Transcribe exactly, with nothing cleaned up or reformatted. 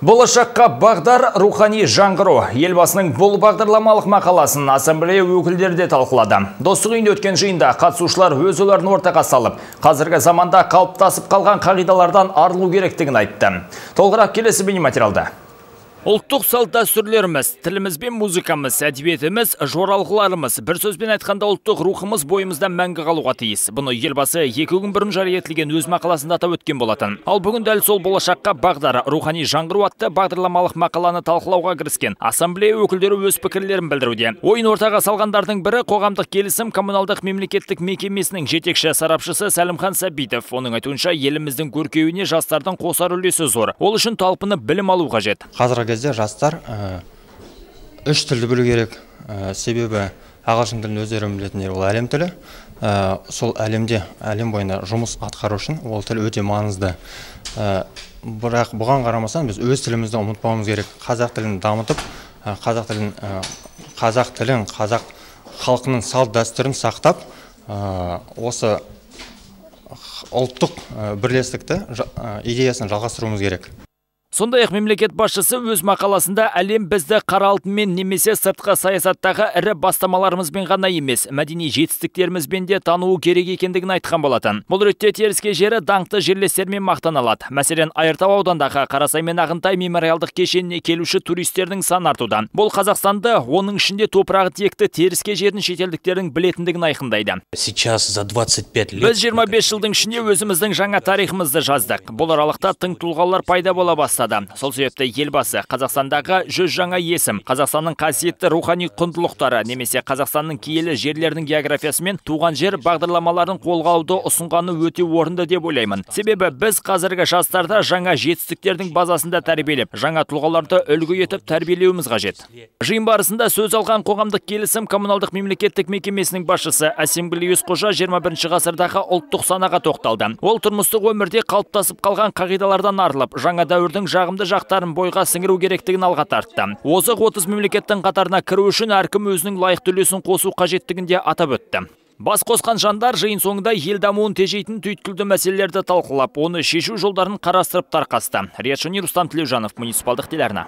Болашаққа бағдар рухани жаңғыру. Елбасының бұл бағдарламалық мақаласын ассамблея өкілдері де талқылады. Достық үйінде өткен жиында қатысушылар өз ойларын ортаға салып, қазіргі заманда қалыптасып қалған қағидалардан арылу керектігін айтты. Толығырақ келесі бейнематериалда. Ұлттық салт дәстүрлеріміз, тіліміз бен музыкамыз, әдебиетіміз, жоралғыларымыз, бір сөзбен айтқанда ұлттық рухымыз бойымызда мәңгі қалуға тиіс. Бұны елбасы екі күн бұрын жария етілген өз мақаласында атап өткен болатын. Ал бүгін дәл сол болашаққа бағдар рухани жаңғыру атты бағдарламалық мақаланы талқылауға кіріскен ассамблея өкілдері өз пікірлерін білдіруде. Ойын ортаға салғандардың бірі қоғамдық келісім коммуналдық мемлекеттік мекемесінің жетекші сарапшысы Сәлімхан Сәбитов. Оның айтуынша еліміздің көркеюіне жастардың қосар үлесі зор. Ол үшін талпынып білім алу қажет. Кезде жастар үш тілді білу керек, себебі ағылшын тілін өздері білетіндер ол әлем тілі. Сол әлемде, әлем бойында жұмыс атқару үшін ол тіл өте маңызды. Бірақ бұған қарамастан біз өз тілімізді ұмытпауымыз керек. Қазақ тілін дамытып, қазақ тілін, қазақ тілін, қазақ халқының салт дәстүрін сақтап, осы ұлттық бірлестікті идеясын жалғастыруымыз керек. Сондай-ақ мемлекет басшысы өз мақаласында әлем бізді қара алтынмен немесе сыртқы саясаттағы ірі бастамаларымызбен ғана емес, мәдени жетістіктерімізбен де тануы керек екендігін айтқан болатын. Бұл ретте теріске жері даңқты жерлестермен мақтаналады. Мәселен, Айыртау аудандағы Қарасай мен Ағынтай мемориалдық кешеніне келуші туристердің саны артуда. Бұл Қазақстанды, оның ішінде топырағы текті теріске жерін шетелдіктердің білетіндігін айқындайды. Сейчас за двадцать пять лет Біз жиырма бес жылдың ішінде өзіміздің жаңа тарихымызды жаздық. Бұл аралықта тың тұлғалар пайда бола бастады. Сол себепті елбасы Қазақстандағы жүз жаңа есім, Қазақстанның қасиетті рухани құндылықтары немесе Қазақстанның киелі жерлердің географиясы мен туған жер бағдарламаларын қолға алуды ұсынғаны өте орынды деп ойлаймын. Себебі біз қазіргі жастарда жаңа жетістіктердің базасында тәрбиелеп, жаңа тұлғаларды үлгі етіп тәрбиелеуіміз қажет. Жиын барысында сөз алған қоғамдық келісім коммуналдық мемлекеттік мекемесінің басшысы Әсемгүл Есқожа жиырма бірінші ғасырдағы ұлттық санаға тоқталды. Ол тұрмыстық өмірде қалыптасып қалған қағидалардан арылып, жаңа дәуірдің жағымды жақтарын бойға сіңіру керектігін алға тартты. Озық отыз мемлекеттің қатарына кіру үшін әркім өзінің лайықты үлесін қосу қажеттігінде атап өтті. Бас қосқан жандар жиын соңында ел дамуын тежейтін түйткілді мәселелерді талқылап, оны шешу жолдарын қарастырып тарқасты. Риат Шани, Рустам Тілеужанов, муниципалдық телеарна.